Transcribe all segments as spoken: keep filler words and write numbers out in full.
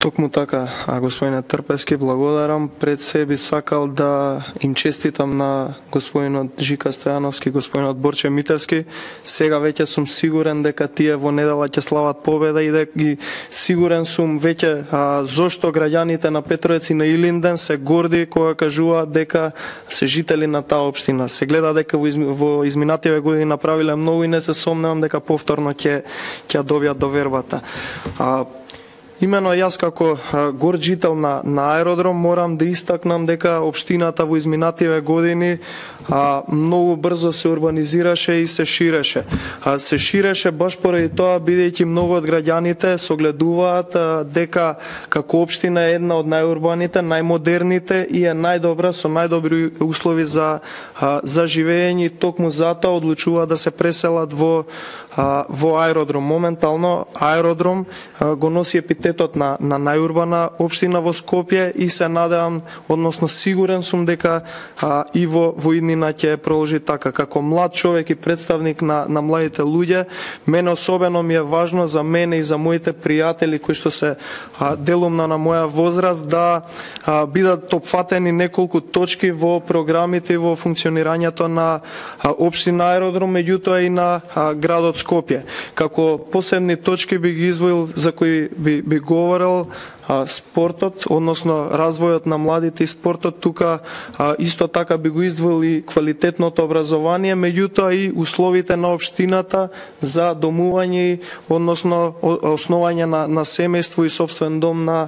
Токму така, а господине Трпевски, благодарам. Пред се би сакал да им честитам на господинот Жика Стојановски, господинот Борче Мителски. Сега веќе сум сигурен дека тие во недела ќе слават победа и дека и сигурен сум веќе а, зошто граѓаните на Петровец и на Илинден се горди кога кажуваат дека се жители на таа општина. Се гледа дека во, изми, во изминативе години направиле многу и не се сомневам дека повторно ќе ќе добијат довербата. А, Имено јас како горд жител на, на аеродром морам да истакнам дека општината во изминативе години а, многу брзо се урбанизираше и се ширеше. А, се ширеше баш поради тоа бидејќи многу од граѓаните согледуваат а, дека како општина е една од најурбаните, најмодерните и е најдобра со најдобри услови за а, за живење, токму затоа одлучуваат да се преселат во а, во аеродром. Моментално аеродром а, го носи епитетот на на најурбана општина во Скопје и се надевам, односно сигурен сум дека а, и во во иднина ќе продолжи така. Како млад човек и представник на на младите луѓе, мене особено ми е важно за мене и за моите пријатели кои што се а, делумна на моја возраст да а, бидат опфатени неколку точки во програмите и во функционирањето на а, општина аеродром, меѓутоа и на а, градот Скопје. Како посебни точки би ги извоил за кои би би говорел а, спортот, односно развојот на младите и спортот, тука а, исто така би го издвоил и квалитетното образование, меѓутоа и условите на општината за домување, односно основање на, на семејство и собствен дом на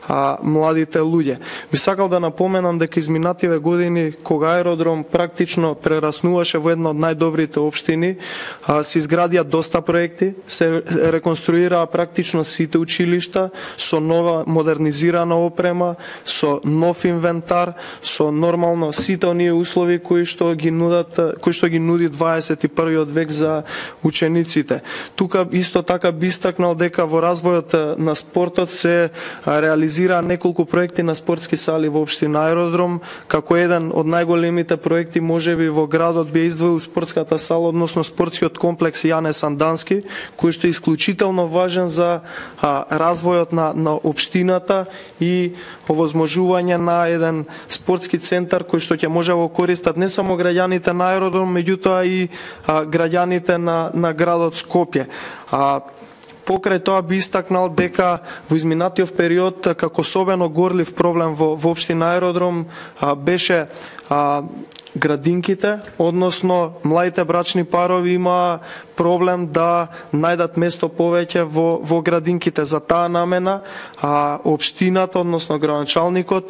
а, младите луѓе. Би сакал да напоменам дека изминативе години, кога аеродром практично прераснуваше во една од најдобрите општини, а, се изградија доста проекти, се реконструираа практично сите училишта со нова модернизирана опрема, со нов инвентар, со нормално сите оние услови кои што ги нудат, кои што ги нуди дваесет и првиот век за учениците. Тука исто така би истакнал дека во развојот на спортот се реализира неколку проекти на спортски сали во општина аеродром, како еден од најголемите проекти можеби во градот би издвоил спортската сала, односно спортскиот комплекс Јане Сандански, кој што е исклучително важен за а, развојот на, на општината и овозможување на еден спортски центар кој што ќе може да го користат не само граѓаните на аеродром, меѓутоа и а, граѓаните на, на градот Скопје. А, Покрај тоа би истакнал дека во изминатиот период како особено горлив проблем во, во општина аеродром а, беше а, градинките, односно младите брачни парови има проблем да најдат место повеќе во, во градинките. За таа намена а, општината, односно градоначалникот,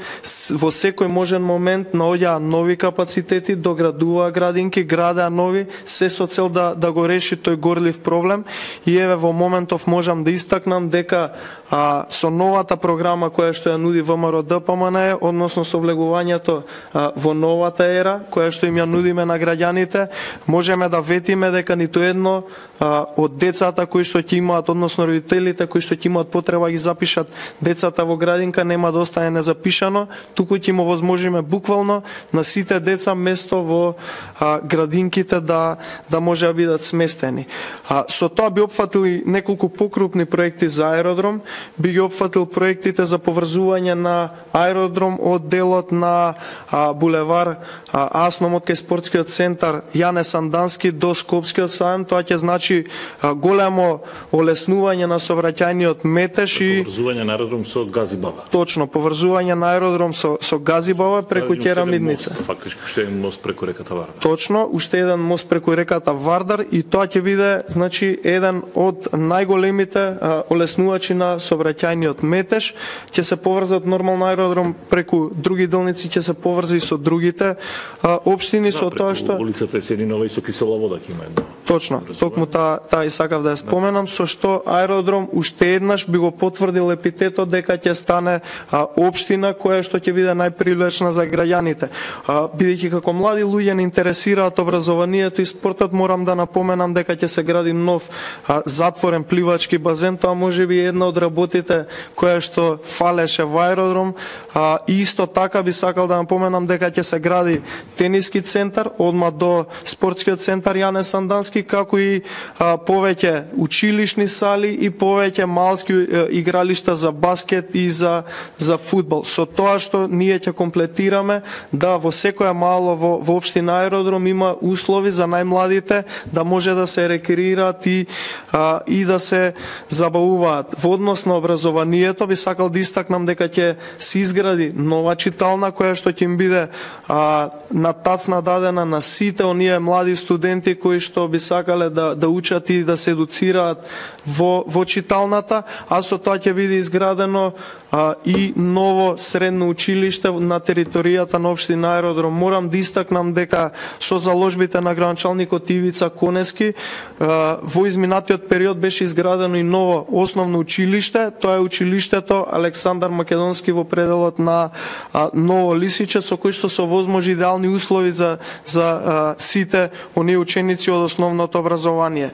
во секој можен момент наоѓаа нови капацитети, доградуваа градинки, градеа нови, се со цел да, да го реши тој горлив проблем. И еве во моментов можам да истакнам дека а, со новата програма која што ја нуди ВМРО-ДПМН, односно со влегувањето а, во новата ера, која што им ја нудиме на граѓаните, можеме да ветиме дека ниту едно а, од децата кои што ќе имаат, односно родителите кои што ќе имаат потреба ги запишат децата во градинка, нема да остане незапишано, туку ќе им овозможиме буквално на сите деца место во а, градинките да да може да бидат сместени. А, со тоа би опфатил и неколку покрупни проекти за аеродром, би ги опфатил проектите за поврзување на аеродром од делот на а, булевар а, Асномот кај спортскиот центар Јане Сандански до Скопскиот сајм. Тоа ќе значи а, големо олеснување на сообраќајниот метеж и поврзување на аеродром со Газибаба. Точно, поврзување на аеродром со со Газибаба преку Ќерамидница. Фактички уште еден мост преку реката Вардар. Точно, уште еден мост преку реката Вардар и тоа ќе биде значи еден од најголемите а, олеснувачи на сообраќајниот метеж. Ќе се поврзат нормално аеродром преку други делници, ќе се поврзи со другите а, општини, да, со тоа што улицата Есенинова и со кисела вода ќе има едно. Точно, токму таа та и сакав да ја споменам, со што аеродром уште еднаш би го потврдил епитетот дека ќе стане а, општина која што ќе биде најпривлечна за граѓаните. А, бидејќи како млади луѓе не интересираат образованието и спортот, морам да напоменам дека ќе се гради нов а, затворен пливачки базен. Тоа можеби една од работите која што фалеше во аеродром. А, и исто така би сакал да напоменам дека ќе се гради тениски центар одма до спортскиот центар Јане Сандански, конески, како и а, повеќе училишни сали и повеќе малски а, игралишта за баскет и за за фудбал. Со тоа што ние ќе комплетираме да во секоја мало во, во општина Аеродром има услови за најмладите да може да се рекреираат и а, и да се забавуваат. Во однос на образованието би сакал да истакнам дека ќе се изгради нова читална која што ќе им биде а, на тацна дадена на сите оние млади студенти кои што би сакале да да учат и да се едуцираат во во читалната, а со тоа ќе биде изградено а, и ново средно училиште на територијата на општина Аеродром. Морам да истакнам дека со заложбите на градоначалникот Ивица Конески а, во изминатиот период беше изградено и ново основно училиште, тоа е училиштето Александар Македонски во пределот на а, Ново Лисиче, со кој што се возможи идеални услови за за а, сите оние ученици од основното образование.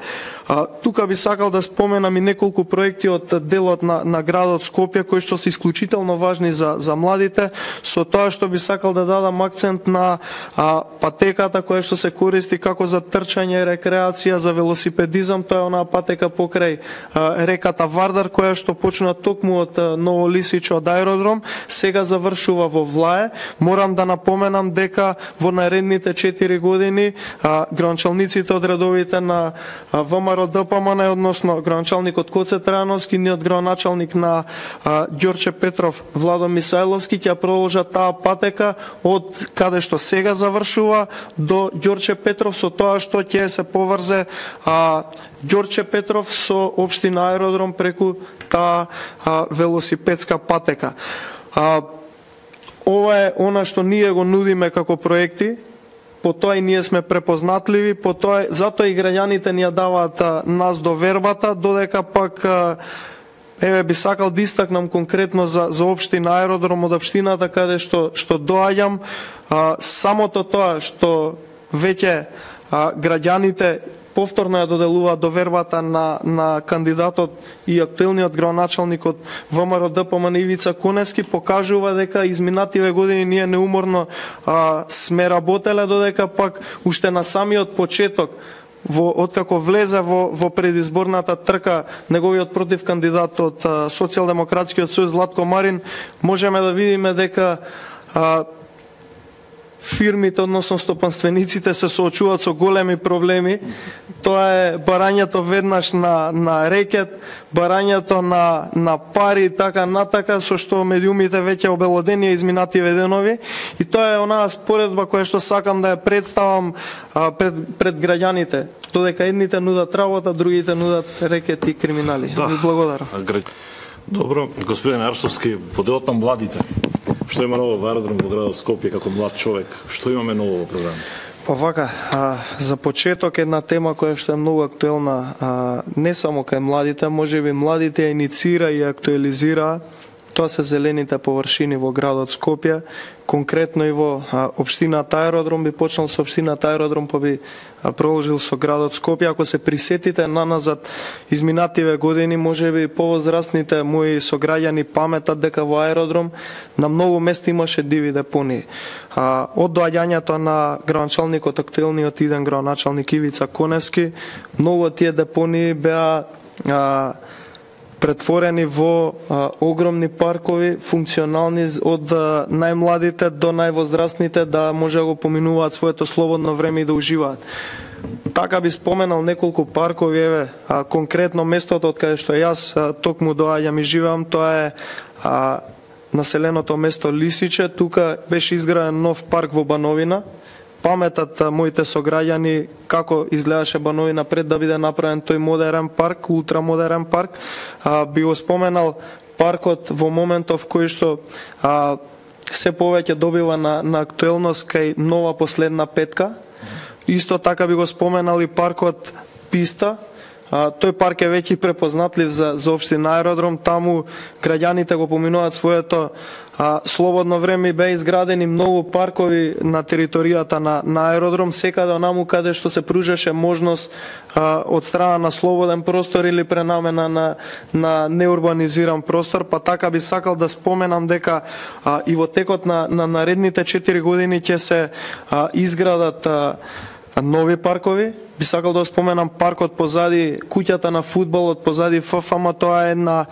А, тука би сакал да споменам и неколку проекти од делот на, на градот Скопје кои што се исклучително важни за, за младите, со тоа што би сакал да дадам акцент на а, патеката која што се користи како за трчање и рекреација, за велосипедизам, тоа е онаа патека покрај а, реката Вардар која што почна токму од Ново Лисиче од Аеродром, сега завршува во Влае. Морам да напоменам дека во наредните четири години а, градоначалниците од редовите на а, ВМРО ДПМН, односно градоначалникот Коце Трајановски, ниот градоначалник на а, Ѓорче Петров Владо Мисајловски ќе продолжат таа патека од каде што сега завршува до Ѓорче Петров, со тоа што ќе се поврзе а, Ѓорче Петров со општина Аеродром преку таа а, велосипедска патека. А, ова е она што ние го нудиме како проекти. По тоа и ние сме препознатливи, по тоа затоа и граѓаните ни ја даваат а, нас довербата, додека пак а, еве би сакал да истакнам конкретно за за општина Аеродром од општината каде што што доаѓам, а, самото тоа што веќе а, граѓаните повторно ја доделуваат довербата на на кандидатот и актуелниот градоначалник од ВМРО ДПМН Ивица Коневски покажува дека изминативе години ние неуморно а, сме работеле, додека пак уште на самиот почеток во откако влезе во во предизборната трка неговиот против кандидат од Социјалдемократскиот сојуз Златко Марин, можеме да видиме дека а, фирмите, односно стопанствениците, се соочуваат со големи проблеми. Тоа е барањето веднаш на на рекет, барањето на на пари и така натака, со што медиумите веќе обелодени изминативе денови, и тоа е онаа споредба која што сакам да ја представам а, пред пред граѓаните. Додека едните нудат работа, другите нудат рекет и криминали. Да. Ви благодарам. Добро, господин Арсовски, по делот на младите. Што има ново во Аеродром во градот Скопје како млад човек? Што имаме ново во програма? Па вака, а, за почеток една тема која што е многу актуелна, а, не само кај младите, можеби младите ја инициира и актуализира, тоа се зелените површини во градот Скопје, конкретно и во а, општината Аеродром. Би почнал со општината Аеродром, па би а, продолжил со градот Скопје. Ако се присетите наназад изминативе години, можеби повозрастните мои сограѓани паметат дека во Аеродром на многу места имаше диви депонии. А, од доаѓањето на градоначалникот актуелниот иден градоначалник Ивица Коневски, многу од тие депонии беа а, претворени во а, огромни паркови, функционални од а, најмладите до највозрастните, да може да го поминуваат своето слободно време и да уживаат. Така би споменал неколку паркови, еве, а, конкретно местото од каде што јас а, токму доаѓам и живеам, тоа е а, населеното место Лисиче. Тука беше изграден нов парк во Бановина. Паметат моите сограѓани како изгледаше Бановина пред да биде направен тој модерен парк, ултрамодерен парк. А, би го споменал паркот во моментов кој што а, се повеќе добива на, на актуелност кај нова последна петка. Исто така би го споменал и паркот Писта. А, тој парк е веќе препознатлив за, за општина Аеродром. Таму граѓаните го поминуваат своето а, слободно време и беа изградени многу паркови на територијата на, на Аеродром, секаде онаму каде што се пружеше можност а, од страна на слободен простор или пренамена на, на неурбанизиран простор. Па така би сакал да споменам дека а, и во текот на, на наредните четири години ќе се а, изградат а, нови паркови. Би сакал да споменам паркот позади куќата на фудбалот, позади ФФМ, тоа е една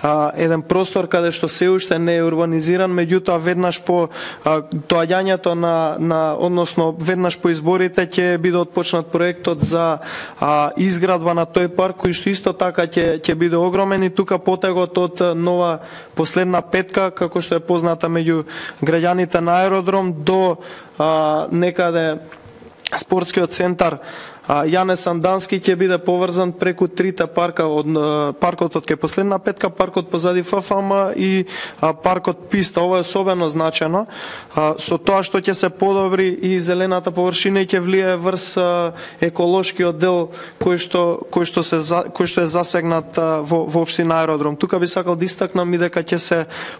а, еден простор каде што се уште не е урбанизиран, меѓутоа веднаш по а, доаѓањето на на односно веднаш по изборите ќе биде отпочнат проектот за а, изградба на тој парк, кој што исто така ќе ќе биде огромен, и тука потегот од нова последна петка, како што е позната меѓу граѓаните на аеродром до а, некаде спортскиот центар Јане Сандански ќе биде поврзан преку трите парка, од паркот од кај последна петка, паркот позади ФФМ и паркот Писта. Ова е особено значено со тоа што ќе се подобри и зелената површина и ќе влие врз еколошкиот дел кој што кој што се кој што е засегнат во во општина Аеродром. Тука би сакал да истакнам и дека ќе се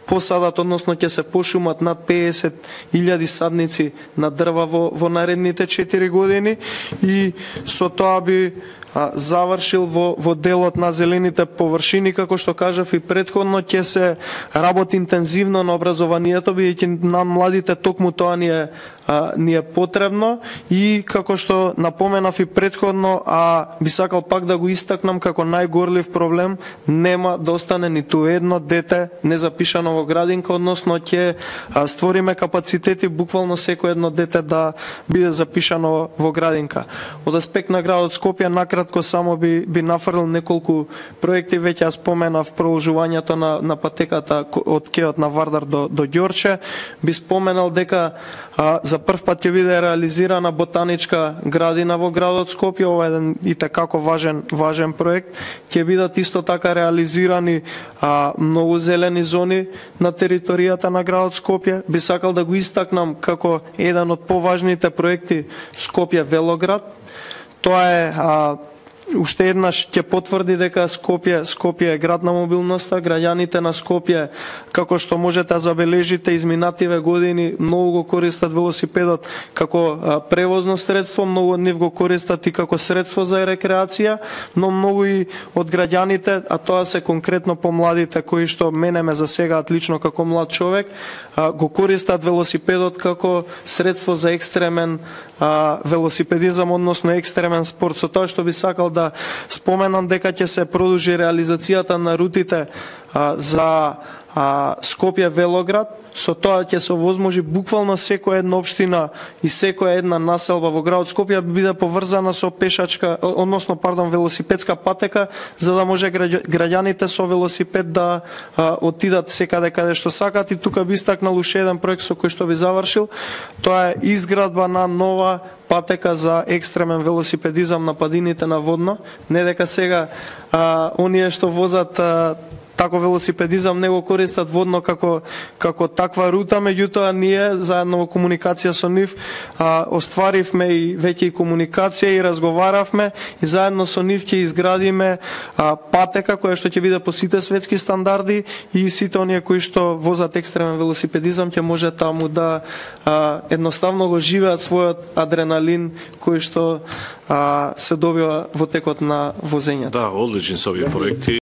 посадат, односно ќе се пошумат над педесет илјади садници на дрва во во наредните четири години, и со тоа би а, завршил во, во делот на зелените површини. Како што кажав и претходно, ќе се работи интензивно на образованието, бидејќи на младите токму тоа ни е, а, ни е потребно, и како што напоменав и претходно, а би сакал пак да го истакнам како најгорлив проблем, нема да остане ниту едно дете незапишано во градинка, односно ќе створиме капацитети буквално секој едно дете да биде запишано во градинка. Од аспект на градот Скопје, накратко само би, би нафрлил неколку проекти. Веќе ја споменав продолжувањето на, на патеката од кеот на Вардар до, до Ѓорче. Би споменал дека а, за прв пат ќе биде реализирана ботаничка градина во градот Скопје. Ова е еден и tekako важен, важен проект. Ќе бидат исто така реализирани а, многу зелени зони на територијата на градот Скопје. Би сакал да го истакнам како еден од поважните проекти Скопје Велоград. Тоа е а, уште еднаш ќе потврди дека Скопје, Скопје е град на мобилноста. Граѓаните на Скопје, како што можете да забележите, изминативе години многу го користат велосипедот како а, превозно средство, многу од нив го користат и како средство за рекреација, но многу и од граѓаните, а тоа се конкретно помладите кои што мене ме засегаат лично како млад човек, а, го користат велосипедот како средство за екстремен а, велосипедизам, односно екстремен спорт. Со тоа што би сакал да споменам дека ќе се продолжи реализацијата на рутите а, за а, Скопје Велоград. Со тоа ќе се овозможи буквално секоја една општина и секоја една населба во градот Скопје би биде поврзана со пешачка, односно пардон, велосипедска патека, за да може граѓаните со велосипед да а, отидат секаде каде што сакат. И тука би истакнал уште еден проект со кој што би завршил. Тоа е изградба на нова патека за екстремен велосипедизам на падините на Водно. Не дека сега а, оние што возат а, тако велосипедизам не го користат Водно како како таква рута, меѓутоа ние заедно во комуникација со нив а, остваривме и веќе и комуникација и разговаравме, и заедно со нив ќе изградиме а, патека која што ќе биде по сите светски стандарди, и сите оние кои што возат екстремен велосипедизам ќе може таму да а, едноставно го живеат својот адреналин кој што а, се добива во текот на возењето. Да, одлични се овие проекти.